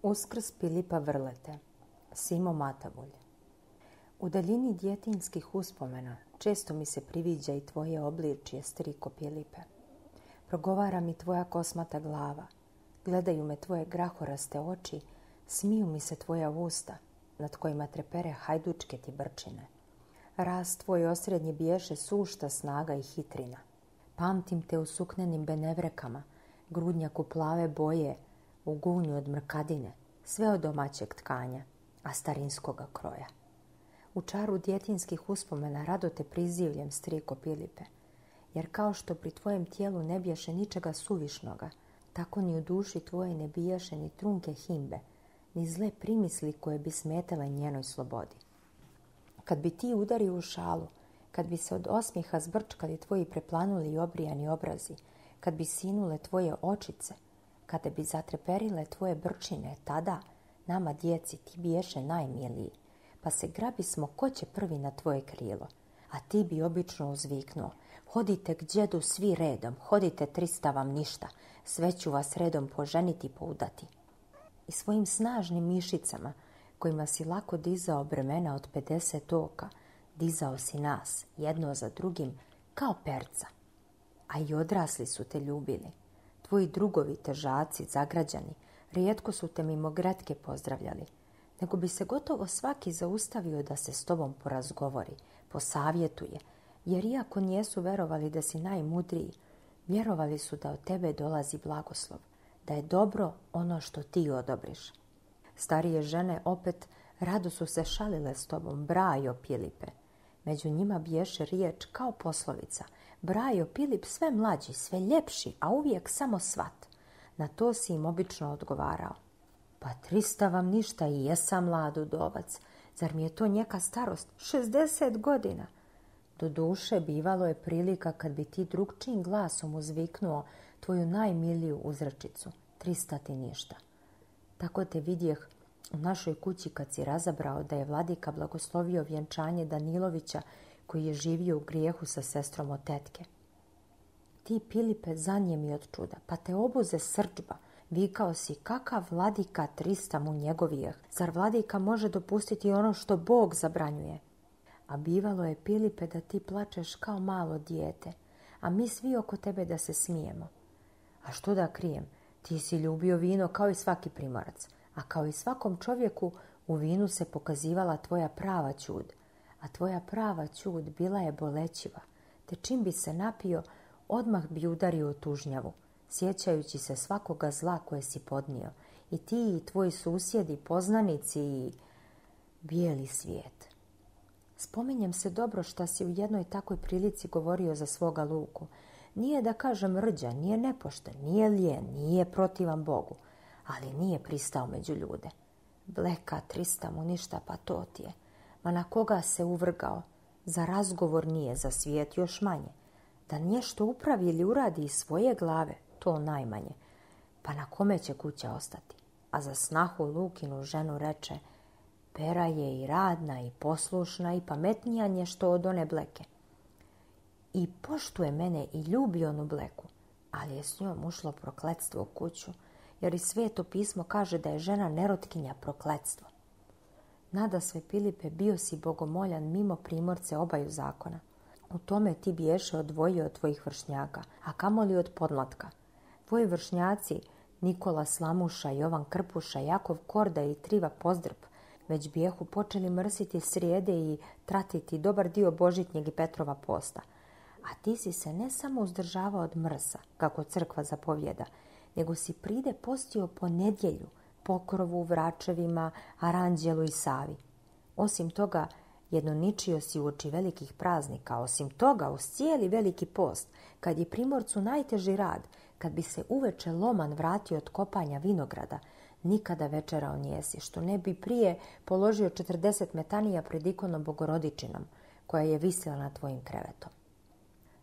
Uskrs Pilipa Vrlete, Simo Matavulj. U daljini djetinjskih uspomena često mi se priviđa i tvoje obličje, striko Pilipe. Progovara mi tvoja kosmata glava, gledaju me tvoje grahoraste oči, smiju mi se tvoja usta, nad kojima trepere hajdučke ti brčine. Rast tvoj osrednji biješe sušta snaga i hitrina. Pamtim te u suknenim benevrekama, grudnjaku plave boje, u gunju od mrkadine, sve od domaćeg tkanja, a starinskoga kroja. U čaru djetinjskih uspomena rado te prizivljem, striko Pilipe, jer kao što pri tvojem tijelu ne biješe ničega suvišnoga, tako ni u duši tvoje ne biješe ni trunke himbe, ni zle primisli koje bi smetale njenoj slobodi. Kad bi ti udario u šalu, kad bi se od osmijeha zbrčkali tvoji preplanuli i obrijani obrazi, kad bi sinule tvoje očice, kada bi zatreperile tvoje brčine, tada, nama djeci, ti biješe najmiliji, pa se grabismo ko će prvi na tvoje krilo, a ti bi obično uzviknuo: hodite k djedu svi redom, hodite 300 vam ništa, sve ću vas redom poženiti i poudati. I svojim snažnim mišicama, kojima si lako dizao bremena od 50 oka, dizao si nas, jedno za drugim, kao perca. A i odrasli su te ljubili. Tvoji drugovi, težaci, zagrađani, rijetko su te mimo gretke pozdravljali, nego bi se gotovo svaki zaustavio da se s tobom porazgovori, posavjetuje, jer iako nijesu verovali da si najmudriji, vjerovali su da od tebe dolazi blagoslov, da je dobro ono što ti odobriš. Starije žene opet rado su se šalile s tobom: brajo Pilipe. Među njima biješe riječ kao poslovica: brajo Pilip sve mlađi, sve ljepši, a uvijek samo svat. Na to si im obično odgovarao: pa 300 vam ništa, i jesam mlad udovac, zar mi je to njeka starost, 60 godina. Doduše, bivalo je prilika kad bi ti drugčijim glasom uzviknuo tvoju najmiliju uzrečicu: 300 ti ništa. Tako te vidjeh u našoj kući kad si razabrao da je vladika blagoslovio vjenčanje Danilovića, koji je živio u grijehu sa sestrom od tetke. Ti, Pilipe, zanijemi od čuda, pa te obuze srdžba. Vikao si: kakav vladika, 300 mu njegovijeh, zar vladika može dopustiti ono što Bog zabranjuje? A bivalo je, Pilipe, da ti plačeš kao malo dijete, a mi svi oko tebe da se smijemo. A što da krijem, ti si ljubio vino kao i svaki primorac, a kao i svakom čovjeku u vinu se pokazivala tvoja prava ćud, a tvoja prava ćud bila je bolećiva, te čim bi se napio, odmah bi udario u tužnjavu, sjećajući se svakoga zla koje si podnio, i ti i tvoji susjedi, poznanici i bijeli svijet. Spominjem se dobro šta si u jednoj takvoj prilici govorio za svoga Luku. Nije, da kažem, rđan, nije nepošten, nije lijen, nije protivan Bogu, ali nije pristao među ljude. Bleka, 300 mu ništa, pa to ti je. Ma na koga se uvrgao? Za razgovor nije, za svijet još manje. Da nešto upravi ili uradi iz svoje glave, to najmanje. Pa na kome će kuća ostati? A za snahu Lukinu ženu reče: Pera je i radna i poslušna i pametnija nešto od one Bleke. I poštuje mene i ljubi onu Bleku, ali je s njom ušlo prokletstvo u kuću, jer i Sveto pismo kaže da je žena nerotkinja prokletstvo. Nadasve, Pilipe, bio si bogomoljan mimo primorce obaju zakona. U tome ti biješe odvojio od tvojih vršnjaka, a kamoli od podmlatka. Tvoji vršnjaci, Nikola Slamuša, Jovan Krpuša, Jakov Korda i Triva Pozdrb, već bijehu počeli mrsiti srijede i tratiti dobar dio Božitnjeg i Petrova posta. A ti si se ne samo uzdržavao od mrsa, kako crkva zapovjeda, nego si pride postio po nedjelju, Pokrovu, Vračevima, Aranđelu i Savi. Osim toga, jednoničio si uoči velikih praznika, osim toga uz cijeli veliki post, kad je primorcu najteži rad, kad bi se uveče loman vratio od kopanja vinograda, nikada večerao nijesi, što ne bi prije položio 40 metanija pred ikonom Bogorodičinom, koja je visila nad tvojim krevetom.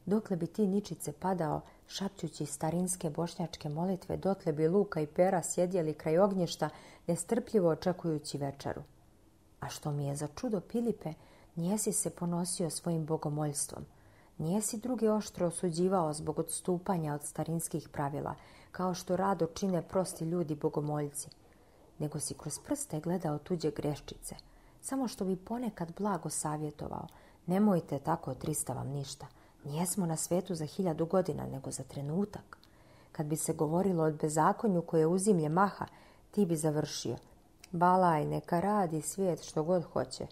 Dokle bi ti ničice padao, šapćući starinske bošnjačke molitve, dotle bi Luka i Pera sjedjeli kraj ognjišta, nestrpljivo očekujući večeru. A što mi je za čudo, Pilipe, nijesi se ponosio svojim bogomoljstvom. Nijesi druge oštro osuđivao zbog odstupanja od starinskih pravila, kao što rado čine prosti ljudi bogomoljci. nego si kroz prste gledao tuđe greščice, samo što bi ponekad blago savjetovao. Nemojte tako, Trista vam ništa. Nijesmo na svetu za 1000 godina, nego za trenutak. Kad bi se govorilo o bezakonju koje uzimlje maha, ti bi završio. Balaj, neka radi svijet što god hoće.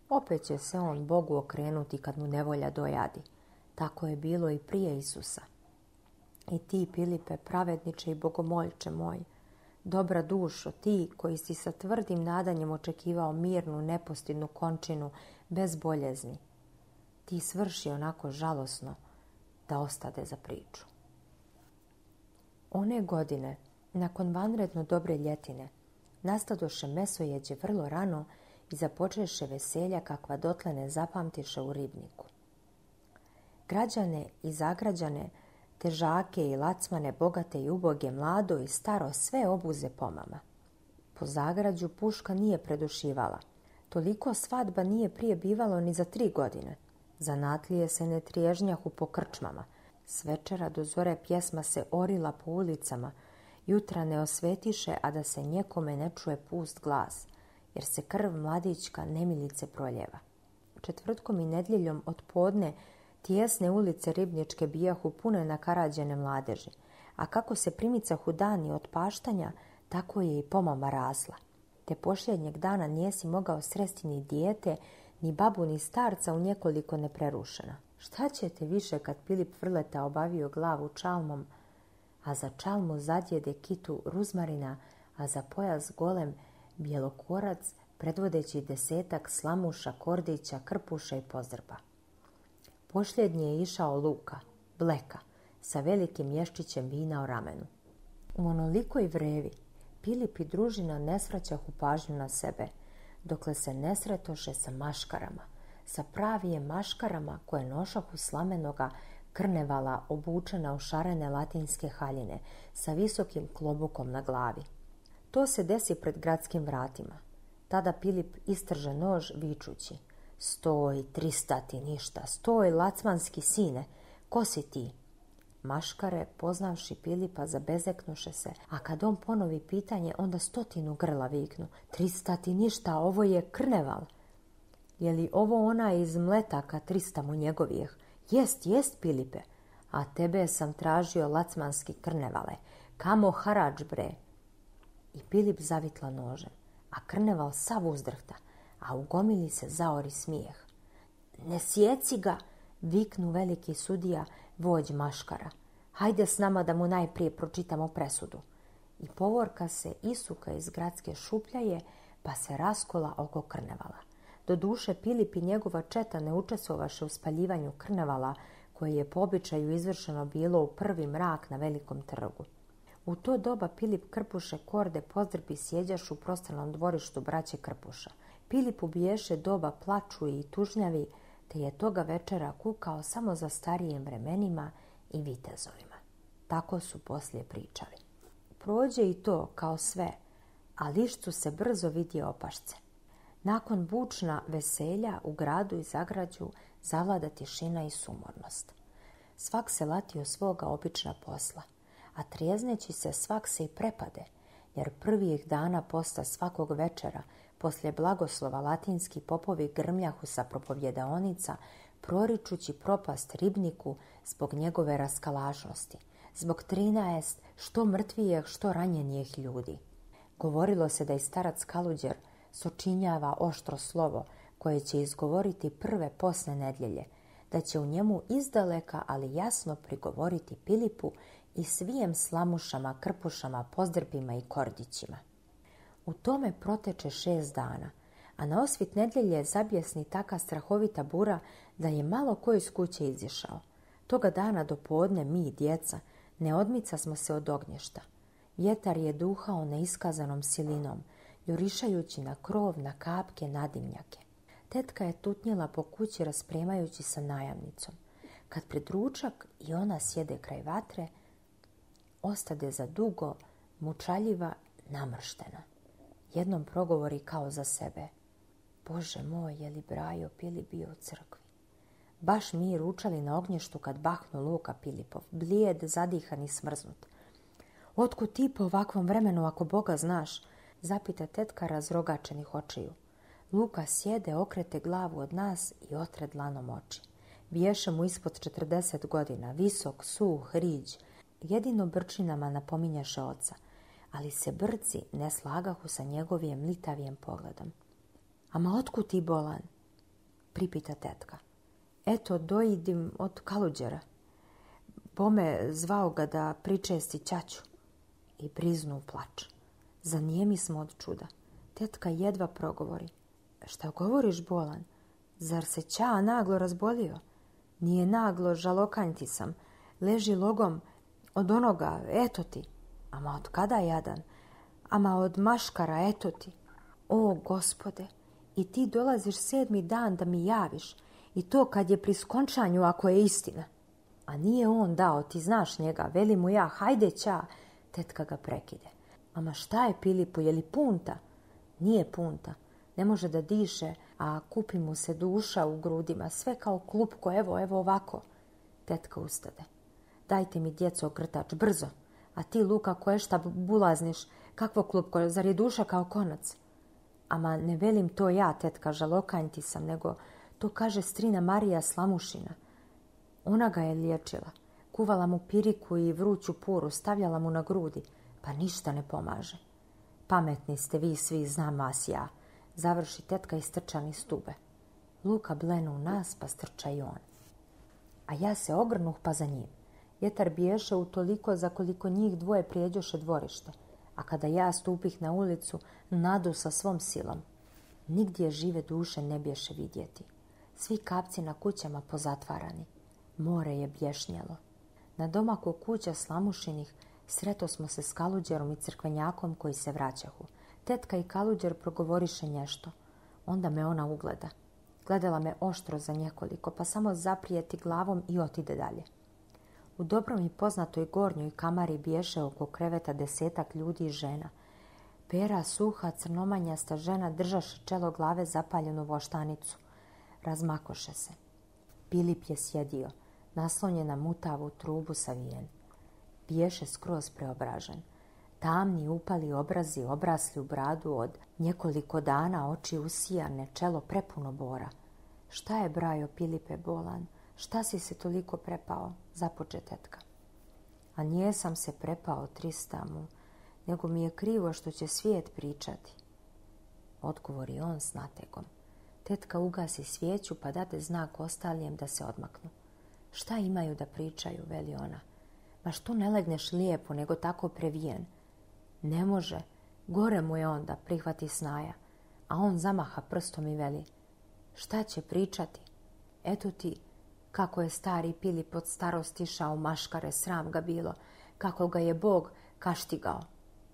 Opet će se on Bogu okrenuti kad mu nevolja dojadi. Tako je bilo i prije Isusa. I ti, Pilipe, pravedniče i bogomoljče moj, dobra dušo, ti koji si sa tvrdim nadanjem očekivao mirnu, nepostidnu končinu bez boljezni, ti svrši onako žalosno da ostade za priču. One godine, nakon vanredno dobre ljetine, nastadoše mesojeđe vrlo rano i započeše veselja kakva dotle ne zapamtiše u ribniku. Građane i zagrađane, težake i lacmane, bogate i uboge, mlado i staro, sve obuze pomama. Po zagrađu puška nije predušivala. Toliko svadba nije prije bivalo ni za 3 godine. Zanatlije se ne triježnjahu po krčmama. S večera do zore pjesma se orila po ulicama. Jutra ne osvetiše, a da se njekome ne čuje pust glas, jer se krv mladićka nemilice proljeva. Četvrtkom i nedjeljom od podne tijesne ulice ribničke bijahu pune nakarađene mladeži, a kako se primicahu dani od paštanja, tako je i pomama rasla. Te posljednjeg dana nijesi mogao sresti ni dijete, ni babu, ni starca u nekoliko neprerušena. Šta ćete više kad Pilip Vrleta obavio glavu čalmom, a za čalmu zadjede kitu ruzmarina, a za pojas golem bjelokorac, predvodeći 10 slamuša, kordića, krpuša i pozdrba. Posljednji je išao Luka, bleka, sa velikim ješčićem vina o ramenu. U onolikoj vrevi Pilip i družina ne svraćahu pažnju na sebe, dokle se ne sretoše sa maškarama, sa pravije maškarama koje nošahu slamenoga krnevala obučena u šarene latinske haljine sa visokim klobukom na glavi. To se desi pred gradskim vratima. Tada Pilip istrže nož vičući: Stoj, Trista ti ništa, stoj, lacmanski sine, ko si ti? Maškare, poznavši Pilipa, zabezeknuše se, a kad on ponovi pitanje, onda 100 grla viknu: Trista ti ništa, ovo je krneval. Je li ovo ona iz mletaka 300 mu njegovijeh? Jest, Pilipe, a tebe sam tražio lacmanski krnevale. Kamo harač, bre? I Pilip zavitla nožem, a krneval sav uzdrhta, a u gomili se zaori smijeh. Ne sjeci ga, viknu veliki sudija, vođ maškara. Hajde s nama da mu najprije pročitamo presudu. I povorka se isuka iz gradske šupljaje, pa se raskola oko krnevala. Doduše Pilip i njegova četa ne učestvovaše u spaljivanju krnevala, koje je po običaju izvršeno bilo u prvi mrak na velikom trgu. U to doba Pilip, Krpuše, Korde, Pozdrbi sjeđaš u prostranom dvorištu braće Krpuša. Pilip ubiješe doba plaču i tužnjavi, te je toga večera kukao samo za starijim vremenima i vitezovima. Tako su poslije pričali. Prođe i to kao sve, a lišcu se brzo vidi opašce. Nakon bučna veselja u gradu i zagrađu zavlada tišina i sumornost. Svak se latio svoga obična posla, a trijezneći se svak se i prepade, jer prvih dana posta svakog večera, poslije blagoslova latinski popovi grmljahu sa propovjedaonica, proričući propast ribniku zbog njegove raskalašnosti, zbog 13 što mrtvijeh, što ranjenijih ljudi. Govorilo se da i starac Kaluđer sočinjava oštro slovo koje će izgovoriti prve posle nedjelje, da će u njemu izdaleka, ali jasno prigovoriti Pilipu i svijem slamušama, krpušama, pozdrpima i kordićima. U tome proteče 6 dana, a na osvit nedjelje zabjesni taka strahovita bura da je malo ko iz kuće izišao. Toga dana do podne mi, djeca, ne odmica smo se od ognješta. Vjetar je duhao neiskazanom silinom, jurišajući na krov, na kapke, na dimnjake. Tetka je tutnjela po kući raspremajući sa najamnicom. Kad pred ručak i ona sjede kraj vatre, ostade za dugo, mučaljiva, namrštena. Jednom progovori kao za sebe: Bože moj, je li Brajo Pilip bio u crkvi? Baš mi ručali na ognještu kad bahnu Luka Pilipov, blijed, zadihan i smrznut. Otkud ti po ovakvom vremenu, ako Boga znaš? zapita tetka razrogačenih očiju. Luka sjede, okrete glavu od nas i otre dlanom oči. Biješe mu ispod 40 godina, visok, suh, riđ. Jedino brčinama napominjaše oca, ali se brci ne slagahu sa njegovim litavijem pogledom. Ama otkud ti bolan? Pripita tetka. Eto, doidim od Kaluđera. Bome zvao ga da pričesti ćaću. I priznu plač. Zanijemi smo od čuda. Tetka jedva progovori. Šta govoriš, bolan? Zar se ća naglo razbolio? Nije naglo, žalokanjti sam. Leži logom od onoga, eto ti. Ama od kada jadan? Ama od maškara, eto ti. O, Gospode, i ti dolaziš 7. dan da mi javiš. I to kad je pri skončanju, ako je istina. A nije on dao, ti znaš njega, veli mu ja, hajde ća. Tetka ga prekide. Ama šta je Pilipu, je li punta? Nije punta. Ne može da diše, a kupi mu se duša u grudima, sve kao klupko, evo ovako. Tetka ustade. Dajte mi, djeco, ogrtač, brzo. A ti, Luka, koje šta bulazniš, kakvo klupko, zar je duša kao konac? Ama ne velim to ja, tetka, žalokanjti sam, nego to kaže strina Marija Slamušina. Ona ga je liječila. Kuvala mu piriku i vruću puru, stavljala mu na grudi, pa ništa ne pomaže. Pametni ste vi svi, znam vas ja. Završi tetka i strča niz stube. Luka blenu u nas, pa strča i on. A ja se ogrnuh pa za njim. Vjetar biješe utoliko za koliko njih dvoje prijeđoše dvorište, a kada ja stupih na ulicu, nadu sa svom silom. Nigdje žive duše ne bješe vidjeti. Svi kapci na kućama pozatvarani. More je bješnjelo. Na domaku kuća Slamušinih sreto smo se s Kaluđerom i crkvenjakom koji se vraćahu. Tetka i Kaluđer progovoriše nešto. Onda me ona ugleda. Gledala me oštro za nekoliko, pa samo zaprijeti glavom i otide dalje. U dobrom i poznatoj gornjoj kamari biješe oko kreveta 10 ljudi i žena. Pera, suha, crnomanjasta žena držaše čelo glave zapaljenu voštanicu. Razmakoše se. Pilip je sjedio, naslonjen na mutavu trubu savijen. Biješe skroz preobražen. Tamni upali obrazi obrasli u bradu od nekoliko dana, oči usijane, čelo prepuno bora. Šta je, brajo Pilipe, bolan? Šta si se toliko prepao? Započe tetka. A nijesam se prepao, Tristamu, nego mi je krivo što će svijet pričati. Odgovori on s nategom. Tetka ugasi svijeću pa dade znak ostalijem da se odmaknu. Šta imaju da pričaju, veli ona. Ma što ne legneš lijepo, nego tako previjen? Ne može, gore mu je onda, prihvati snaja. A on zamaha prstom i veli. Šta će pričati? Eto ti, kako je stari Pilip od starosti išao u maškare, sram ga bilo, kako ga je Bog kaštigao.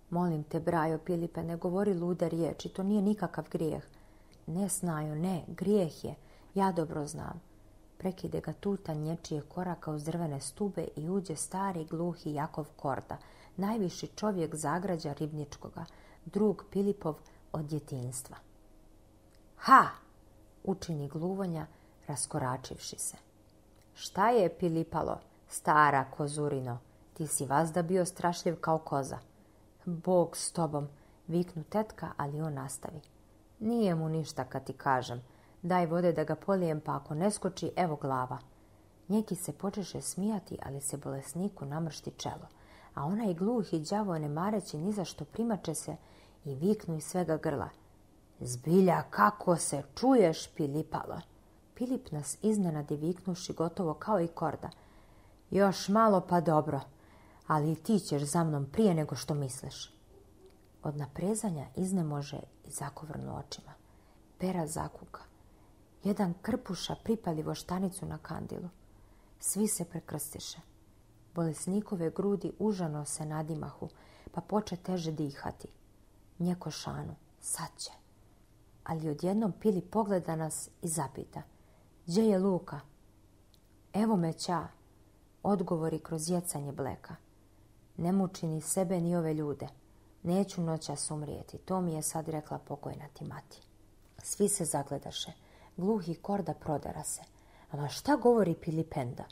Molim te, brajo Pilipe, ne govori lude riječi, to nije nikakav grijeh. Ne, snajo, ne, grijeh je, ja dobro znam. Prekide ga tutanj nječije koraka uz drvene stube i uđe stari gluhi Jakov Korda, najviši čovjek zagrađa Ribničkoga, drug Pilipov od djetinjstva. Ha! Učini gluvonja, raskoračivši se. Šta je, Pilipalo, stara kozurino, ti si vazda bio strašljiv kao koza. Bog s tobom, viknu tetka, ali on nastavi. Nije mu ništa kad ti kažem. Daj vode da ga polijem, pa ako ne skoči, evo glava. Njeki se počeše smijati, ali se bolesniku namršti čelo. A onaj gluhi đavo ne mareći ni za što primače se i viknu iz svega grla. Zbilja, kako se čuješ, Pilipalo? Pilip nas iznenadi viknuši gotovo kao i Korda. Još malo pa dobro, ali i ti ćeš za mnom prije nego što misliš. Od naprezanja iznemože i zakovrnu očima. Pera zakuka. Jedan krpuša pripali voštanicu na kandilu. Svi se prekrstiše. Bolesnikove grudi užano se nadimahu, pa poče teže dihati. Njeko šanu, sad će. Ali odjednom Pilip pogleda nas i zapita. Gdje je Luka? Evo me ća, odgovori kroz jecanje bleka. Ne muči ni sebe ni ove ljude. Neću noćas umrijeti, to mi je sad rekla pokojna ti mati. Svi se zagledaše. Gluhi Korda prodera se. Ama šta govori Pilipenda?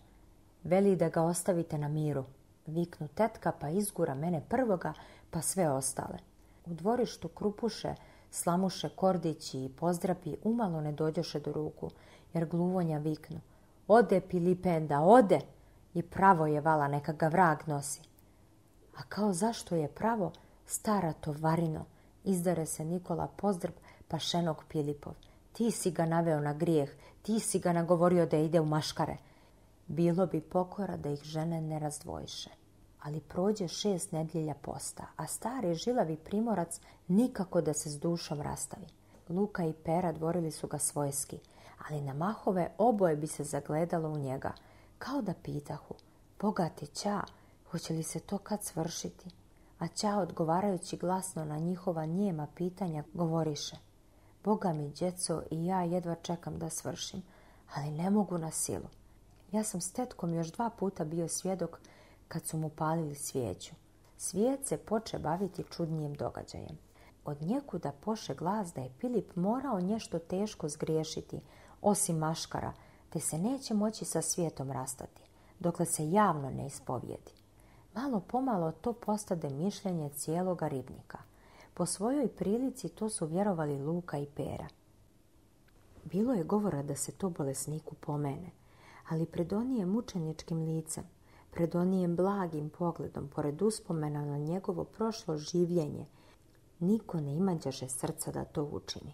Veli da ga ostavite na miru. Viknu tetka pa izgura mene prvoga, pa sve ostale. U dvorištu Krupuše, Slamuše, Kordići i Pozdrapi umalo ne dođoše do ruku, jer gluvonja viknu: "Ode Pilipenda, ode!" I pravo je vala, neka ga vrag nosi. A kao zašto je pravo, stara tovarino, izdare se Nikola Pozdrap pašenog Pilipov. Ti si ga naveo na grijeh, ti si ga nagovorio da ide u maškare. Bilo bi pokora da ih žene ne razdvojiše. Ali prođe 6 nedjelja posta, a stari žilavi primorac nikako da se s dušom rastavi. Luka i Pera dvorili su ga svojski, ali na mahove oboje bi se zagledalo u njega, kao da pitahu: "Bogati ća, hoće li se to kad svršiti?" A ća, odgovarajući glasno na njihova nijema pitanja, govoriše: "Boga mi, djeco, i ja jedva čekam da svršim, ali ne mogu na silu. Ja sam s tetkom još 2 puta bio svjedok kad su mu palili svijeću." Svijet se poče baviti čudnijim događajem. Od njekuda poše glas da je Pilip morao nešto teško zgriješiti, osim maškara, te se neće moći sa svijetom rastati, dokle se javno ne ispovijedi. Malo pomalo to postade mišljenje cijeloga ribnika. Po svojoj prilici to su vjerovali Luka i Pera. Bilo je govora da se to bolesniku pomene, ali pred onijem mučeničkim licem, pred onijem blagim pogledom, pored uspomena na njegovo prošlo življenje, niko ne imađaše srca da to učini.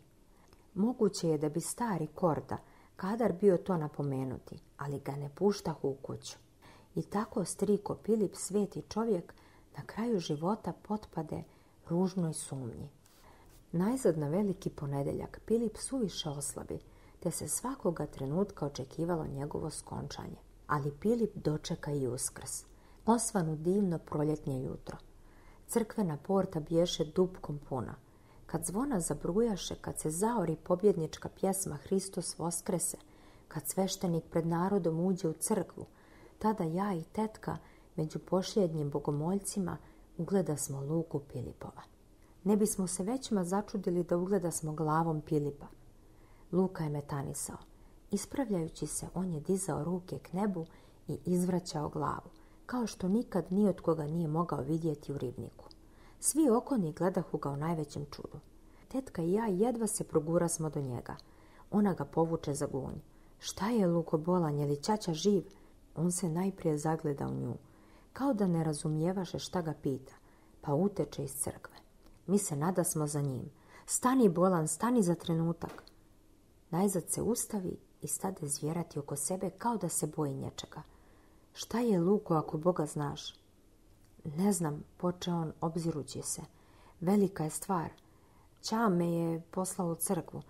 Moguće je da bi stari Korda kadar bio to napomenuti, ali ga ne puštahu u kuću. I tako striko Pilip, sveti čovjek, na kraju života potpade ružnoj sumnji. Najzad na veliki ponedjeljak Pilip suviše oslabi, te se svakoga trenutka očekivalo njegovo skončanje. Ali Pilip dočeka i Uskrs, osvanu divno proljetnje jutro. Crkvena porta bješe dupkom puna. Kad zvona zabrujaše, kad se zaori pobjednička pjesma Hristos Voskrese, kad sveštenik pred narodom uđe u crkvu, tada ja i tetka među posljednjim bogomoljcima ugleda smo Luku Pilipova. Ne bismo se većma začudili da ugleda smo glavom Pilipa. Luka je metanisao. Ispravljajući se, on je dizao ruke k nebu i izvraćao glavu, kao što nikad ni od koga nije mogao vidjeti u ribniku. Svi okolni gledahu ga u najvećem čudu. Tetka i ja jedva se progurasmo do njega. Ona ga povuče za gunj. "Šta je, Luko, bolan, je li ćaća živ?" On se najprije zagleda u nju, kao da ne razumijevaše šta ga pita, pa uteče iz crkve. Mi se nadasmo za njim. "Stani, bolan, stani za trenutak." Najzad se ustavi i stade zvjerati oko sebe kao da se boji nječega. "Šta je, Luko, ako Boga znaš?" "Ne znam," poče on obzirući se. "Velika je stvar. Ća me je poslao u crkvu.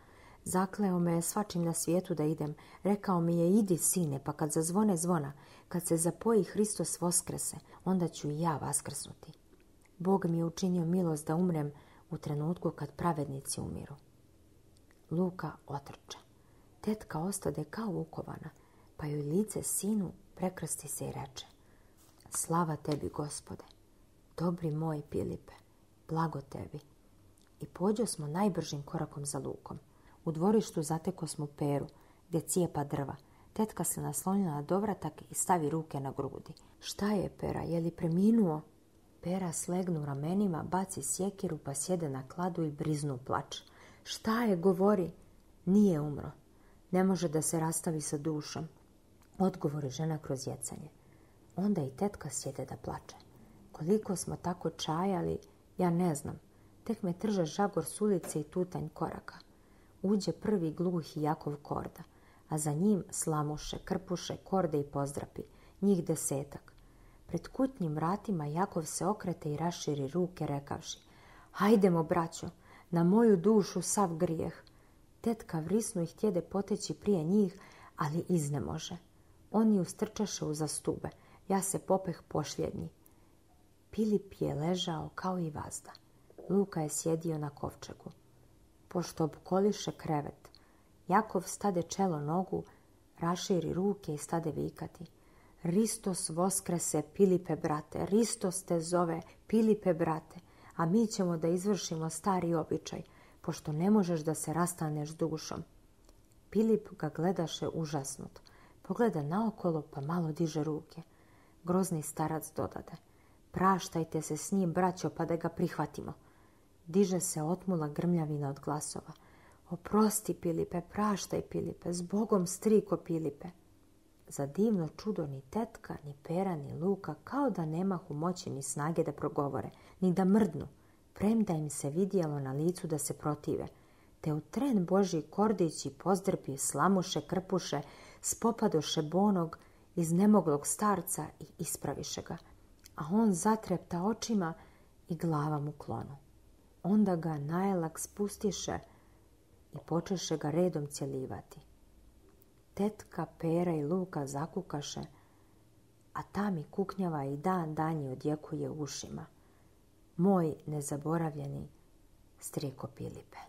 Zakleo me je svačim na svijetu da idem. Rekao mi je: idi, sine, pa kad zazvone zvona, kad se zapoji Hristos Voskrese, onda ću i ja vaskrsnuti. Bog mi je učinio milost da umrem u trenutku kad pravednici umiru." Luka otrče. Tetka ostade kao ukovana, pa joj lice sinu prekrsti se i reče: "Slava tebi, Gospode, dobri moj Pilipe, blago tebi." I pođo smo najbržim korakom za Lukom. U dvorištu zateko smo Peru, gdje cijepa drva. Tetka se naslonila na dovratak i stavi ruke na grudi. "Šta je, Pera, je li preminuo?" Pera slegnu ramenima, baci sjekiru, pa sjede na kladu i briznu plač. "Šta je, govori?" "Nije umro. Ne može da se rastavi sa dušom," odgovori žena kroz jecanje. Onda i tetka sjede da plače. Koliko smo tako čajali, ja ne znam. Tek me trže žagor s ulice i tutanj koraka. Uđe prvi gluhi Jakov Korda, a za njim Slamuše, Krpuše, Korde i Pozdrapi, njih 10. Pred kutnjim vratima Jakov se okrete i raširi ruke rekavši: "Hajdemo, braćo, na moju dušu sav grijeh." Tetka vrisnu i htjede poteći prije njih, ali iznemože. Oni ustrčaše uza stube, ja se popeh posljednji. Pilip je ležao kao i vazda. Luka je sjedio na kovčegu. Pošto obkoliše krevet, Jakov stade čelo nogu, raširi ruke i stade vikati: "Hristos Voskrese, Pilipe, brate, Hristos te zove, Pilipe, brate, a mi ćemo da izvršimo stari običaj, pošto ne možeš da se rastaneš s dušom." Pilip ga gledaše užasnut. Pogleda naokolo, pa malo diže ruke. Grozni starac dodade: "Praštajte se s njim, braćo, pa da ga prihvatimo." diže se otmula grmljavina od glasova. Oprosti, Pilipe, praštaj, Pilipe, zbogom, striko Pilipe. Za divno čudo ni tetka, ni Pera, ni Luka, kao da nemahu moći ni snage da progovore, ni da mrdnu, premda im se vidjelo na licu da se protive. Te u tren Božji Kordići pozdrpi, slamuše, krpuše, spopadoše bonog iznemoglog starca i ispraviše ga, a on zatrepta očima i glavom u klonu. Onda ga najelak spustiše i počeše ga redom cjelivati. Tetka, Pera i Luka zakukaše, a ta mi kuknjava i dan danji odjekuje u ušima. Moj nezaboravljeni striko Pilipe.